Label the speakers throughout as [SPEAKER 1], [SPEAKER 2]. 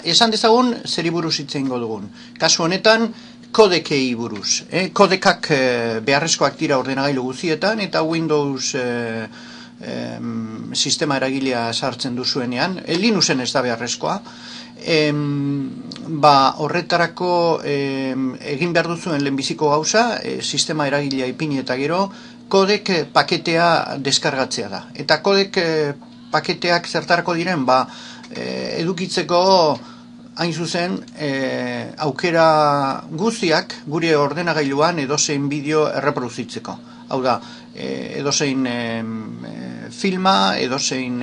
[SPEAKER 1] Esan dezagun, zeri buruz hitz egingo dugun. Kasu honetan, kodekei buruz. Kodekak beharrezkoak dira ordenagailu guztietan, eta Windows sistema eragilea sartzen duzuenean, Linuxen ez da beharrezkoa. Horretarako egin behar duzuen lehenbiziko gauza, sistema eragilea ipini eta gero, kodek paketea deskargatzea da. Eta kodek paketeak zertarako diren, edukitzeko hain zuzen aukera guztiak gure ordenagailuan edozein bideo erreproduzitzeko. Hau da, edozein filma, edozein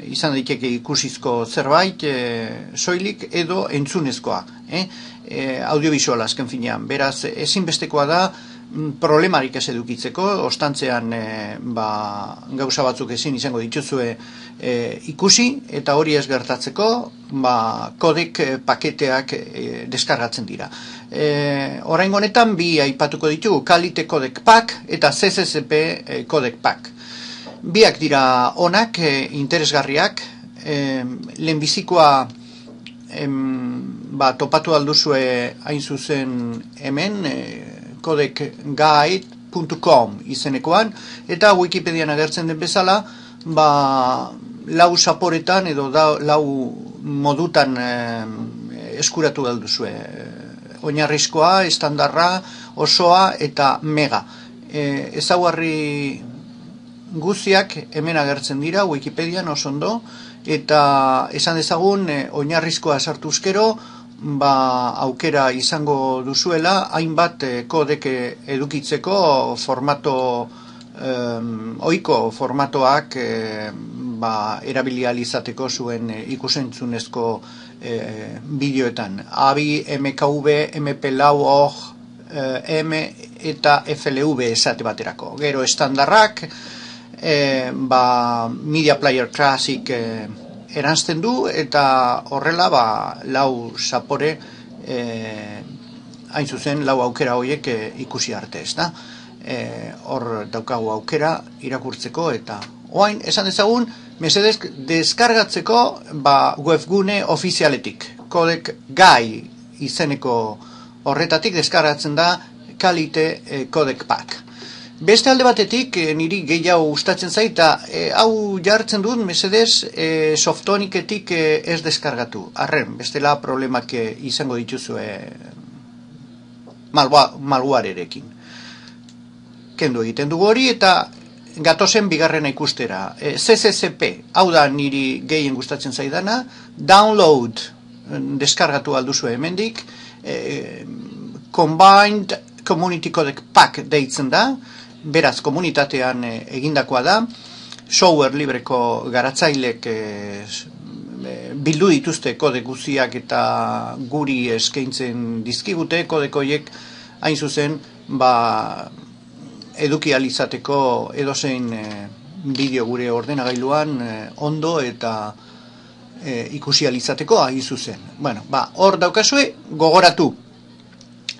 [SPEAKER 1] izan daiteke ikusizko zerbait, soilik edo entzunezkoa. Audiovisuala azken finean. Beraz, ezinbestekoa da problemarik ez edukitzeko, ostantzean gauza batzuk ezin izango dituzue ikusi, eta hori ez gertatzeko, kodek paketeak deskargatzen dira. Oraingo honetan bi aipatuko ditugu, Kalite Codec Pack eta CCCP Codec Pack. Biak dira onak, interesgarriak, lehenbizikoa topatu alduzue hain zuzen hemen, codecguide.com izenekoan, eta Wikipedian agertzen den bezala, lau zaporetan edo lau modutan eskuratu alduzue. Oinarrizkoa, estandarra, osoa eta mega. Ezaugarri guztiak hemen agertzen dira Wikipedian oso ondo, eta esan dezagun oinarrizkoa sartuzkero, aukera izango duzuela, hainbat kodek edukitzeko ohiko formatoak erabili ahal izateko zuen ikusentzunezko bideoetan. AVI, MKV, MP4, OGG, M eta FLV esate baterako. Gero estandarrak, Media Player Classic eranzten du, eta horrela lau zapore hain zuzen lau aukera horiek ikusi arte, ez da? Hor daukagu aukera irakurtzeko, eta oain esan dezagun mesedez deskargatzeko webgune ofizialetik, Codec Guide izeneko horretatik deskargatzen da Kalite Codec Pack. Beste alde batetik, niri gehiago gustatzen zaita, hau jartzen dut, mesedez, Softonicetik ez deskargatu. Arren, bestela problemak izango dituzue malwarerekin. Kendu egiten dugu hori, eta gatozen bigarrena ikustera. CCCP, hau da niri gehien gustatzen zaidana, download deskargatu alduzue hemendik, Combined Community Codec Pack deitzen da, beraz, komunitatean egindakoa da, software libreko garatzailek bildu dituzte kodek guztiak eta guri eskaintzen dizkigute, kodek horiek hain zuzen eduki ahal izateko edozein bideo gure ordenagailuan ondo eta ikusi ahal izateko hain zuzen. Hor daukazue, gogoratu.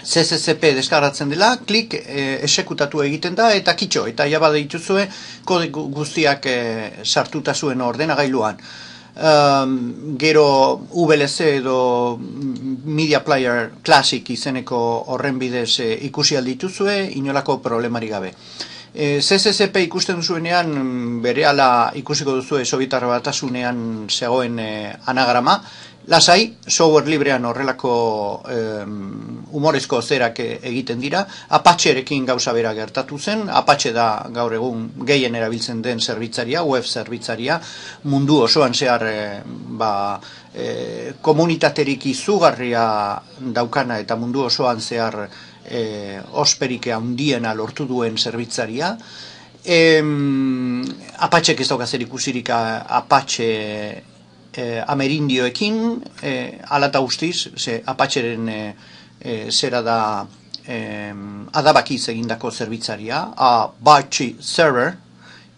[SPEAKER 1] CCCP deskargatzen dela, klik, esekutatu egiten da, eta kitxo, eta jaba dituzue kode guztiak sartuta zuen ordenagailuan. Gero VLC edo Media Player Classic izeneko horren bidez ikusi aldituzue, inolako problemari gabe. CCCP ikusten duzuenean, berehala ikusiko duzue Sobietar Batasunean zegoen anagrama, lasai, software librean horrelako humorezko zerak egiten dira, Apacherekin gauza bera gertatu zen, Apache da gaur egun gehien erabiltzen den zerbitzaria, web zerbitzaria, mundu osoan zehar komunitaterik izugarria daukana eta mundu osoan zehar osperik handiena lortu duen zerbitzaria. Apache ez dauka zer ikusirik Apache Amerindioekin, alata guztiz, Apacheren zera da adabakiz egindako zerbitzaria, Apache Server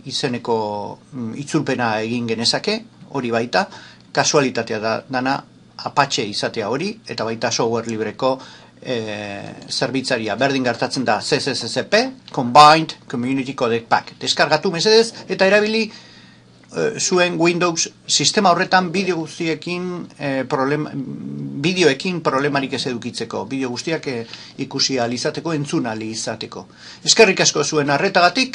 [SPEAKER 1] izeneko itzulpena egin genezake, hori baita, kasualitatea dana Apache izatea hori, eta baita software libreko zerbitzaria. Berdin gertatzen da CCCP, Combined Community Codec Pack. Deskargatu mesedez, eta erabili zuen Windows sistema horretan bideo guztiekin bideoekin problemarik ez edukitzeko, bideo guztiak ikusi ahal izateko, entzun ahal izateko. Eskerrik asko zuen arretagatik.